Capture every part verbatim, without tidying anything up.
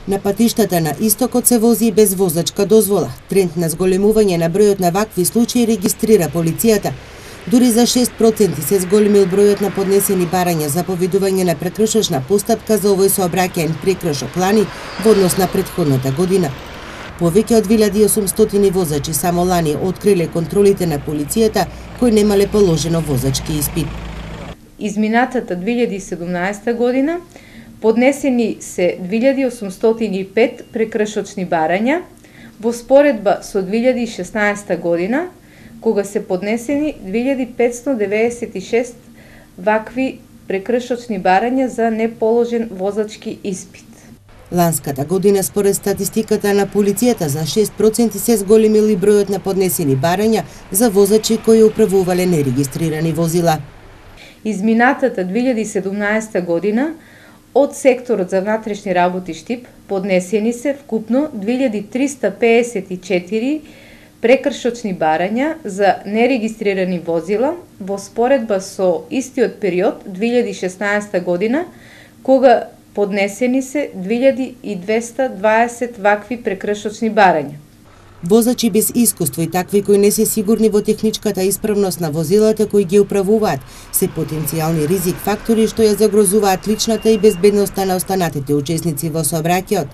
На патиштата на истокот се вози и без возачка дозвола. Тренд на зголемување на бројот на вакви случаи регистрира полицијата. Дури за шест проценти се зголемил бројот на поднесени барања за поведување на прекршочна постапка за овој сообраќаен прекршок лани во однос на претходната година. Повеќе од две илјади и осумстотини возачи само лани откриле контролите на полицијата кои немале положено возачки испит. Изминатата две илјади и седумнаесета година поднесени се две илјади осумстотини и пет прекршочни барања во споредба со две илјади и шеснаесета година, кога се поднесени две илјади петстотини деветдесет и шест вакви прекршочни барања за неположен возачки испит. Ланската година според статистиката на полицијата за шест проценти се зголемил и бројот на поднесени барања за возачи кои управувале нерегистрирани возила. Изминатата две илјади и седумнаесета година од секторот за внатрешни работи Штип поднесени се вкупно две илјади триста пеесет и четири прекршочни барања за нерегистрирани возила во споредба со истиот период две илјади и шеснаесета година, кога поднесени се две илјади и двеста дваесет вакви прекршочни барања. Возачи без искуство и такви кои не се сигурни во техничката исправност на возилата кои ги управуваат се потенцијални ризик фактори што ја загрозуваат личната и безбедноста на останатите учесници во сообраќајот.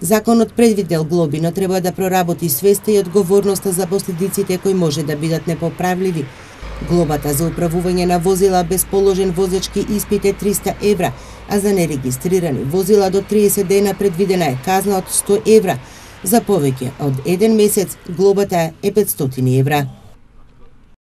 Законот предвидел глоби, но треба да проработи свеста и одговорноста за последиците кои може да бидат непоправливи. Глобата за управување на возила без положен возачки испит е триста евра, а за нерегистрирани возила до триесет дена предвидена е казна од сто евра. За повеќе од еден месец глобата е петстотини евра.